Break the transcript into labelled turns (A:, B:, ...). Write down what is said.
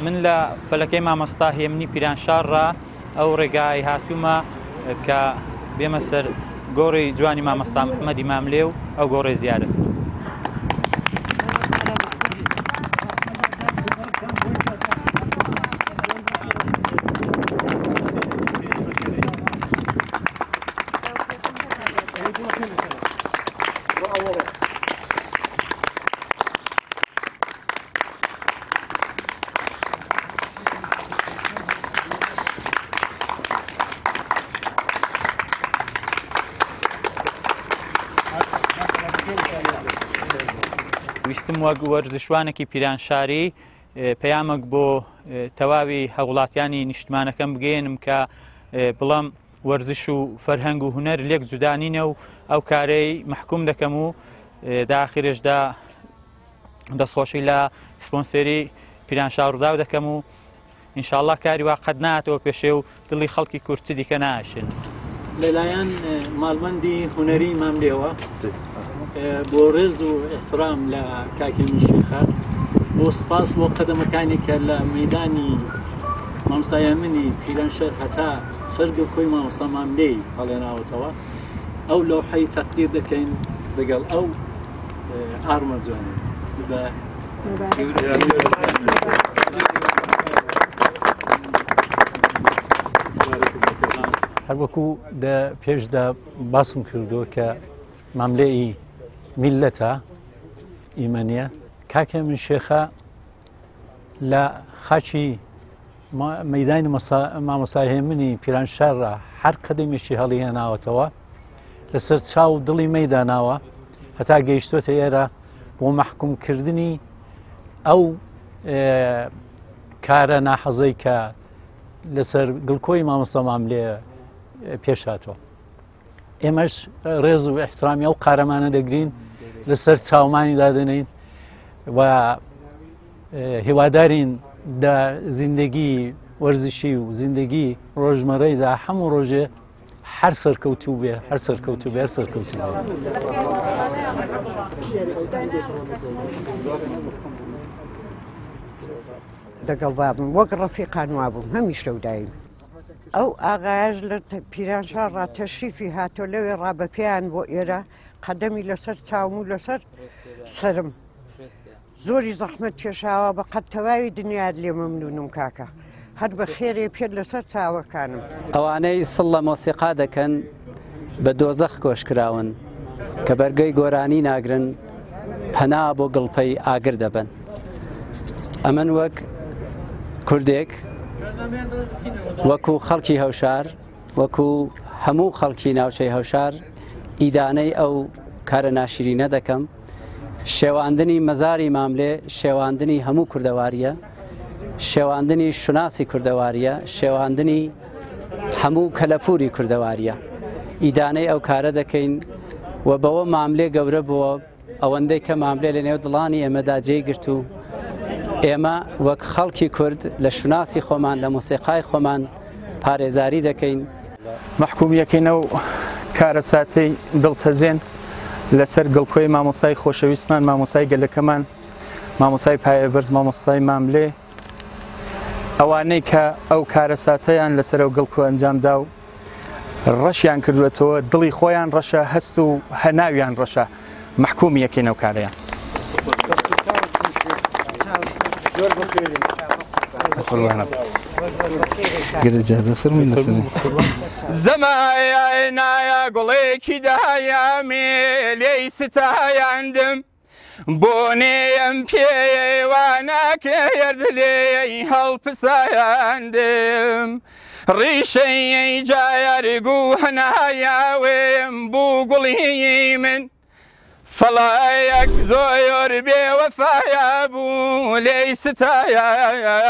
A: من لە فەلەکەی مامۆستا هێمنی پیرانشار ڕا ئەو ڕێگای هاتوومە کە بێمە سەر گۆڕی جوانی مامۆستا محەممەدی ماملێ و ئەو گۆڕێ زیارەت. ویستم وەک وەرزشوانێکی پیرانشاری پەیامێک بۆ تەواوی هاوڵاتیانی نیشتمانەکەم بگەیەنم کە بڵم وەرزش و فەرهەنگ و هونەر لێک جودا نینە و ئەو کارەی مەحکوم دەکەم و داخرێشدا دەستخۆشی لە سپۆنسێری پیرانشار ڕووداو دەکەم و ئینشاءاللە کاری وا قەت ناتەوە پێشێ و دڵی خەڵکی کورد چ دیکە ناشێن.
B: لەلایەن ماڵبەندی هونەری ماملێوە بۆ ڕێز و ئیحترام لە کاک هێمن شێخە بۆ سپاس بۆ قەدەمەکانی کە لە مەیدانی مامۆستا هێمنی پیرانشار هەتا سەر گڵکۆی مامۆستا ماملێی هەڵێناوەتەوە ئەو لەوحەی تەقدیر دەکەین لەگەڵ ئەو ئارمە جوانە بە
C: هەروەکو دە پێشدا باسم کردووە کە ماملێی میلەتە ئیمە نییە کاکە من شێخە لە خاچی مەدانی مامۆستا هێمنی پیرانشارڕا هەر قەدەمێکی هەڵی هێناوەتەوە لەسەر چاو دڵی مەیداناوە هەتا گەیشتۆتە ئێرە بۆ مەحکومکردنی ئەو کارە ناحەزەی کە لەسەر گڵکۆی مامۆستا ماملێ پێش هاتووە ئێمەش ڕێز و احترامی ئەو قارەمانە دەگرین لەسەر چاومانی دادەنین و هیوادارین دە زیندگی وەرزشی و زیندگی ڕۆژمەرەیدا هەموو ڕۆژێ هەر سەرکەوتوو بێ هەر سەرکەوتوو بێ هەر سەرکەوتوو بێ.
D: دەگەڵ بابم وەک ڕەفیقان وابووم هەمیشە و دایم. ئەو ئاغایەش لە پیرانشار ڕا تەشریفی هاتۆ لەوێ ڕا بە پێیان بۆ ئێرە قەدەمی لەسەر چاوم و لەسەر سەرم. زۆری زەحمەت کێشاوە بە قەد تەواوی دنیات لێ مەمنونم کاکە هەر بە خێرێ پێت لەسەر چاوەکانم.
E: ئەوانەی سڵ لە مۆسیقا دەکەن بە دۆزەخ کۆشکراون، کە بەرگەی گۆرانی ناگرن پەنا بۆ گڵپەی ئاگر دەبەن. ئەمن وەک کوردێک وەکو خەڵکی هەوشار وەکو هەموو خەڵکی ناوچەی هەوشار ئیدانەی ئەو کارە ناشرینە دەکەم. شێواندنی مەزاری ماملێ شێواندنی هەموو کوردەواریە، شێواندنی شوناسی کوردەواریە، شێواندنی هەموو کەلەپوری کوردەواریە. ئیدانەی ئەو کارە دەکەین و بەوە ماملێ گەورە بووە، ئەوەندەی کە ماملێ لە نێو دڵانی ئێمەدا جێی گرت و ئێمە وەک خەڵکی کورد لە شوناسی خۆمان لە مۆسیقای خۆمان پارێزاری دەکەین.
F: مەحکومیەکەی ئەو کارەساتەی دڵتەزێن لەسەر گڵکۆی مامۆستای خۆشەویستمان، مامۆستای گەلەکەمان، مامۆستای پایەبەرز، مامۆستای ماملێ، ئەوانەی کە ئەو کارەساتەیان لەسەر ئەو گڵکۆ ئەنجامدا و ڕەشیان کردوێتەوە، دڵی خۆیان ڕەشە، هەست و هەناویان ڕەشە، مەحکومی یەکەین ئەو کارەیان. زەمایە نایە گوڵێکی دایامێ لێی ستایاندم بۆنێم پێوە ناکرد لێی هەڵپسایاندم ڕیشەی جایەرگ و هەنایاوێم بوو گوڵی من فەڵایەک زۆر بێ وەفایا بوو لێی ستایاندم.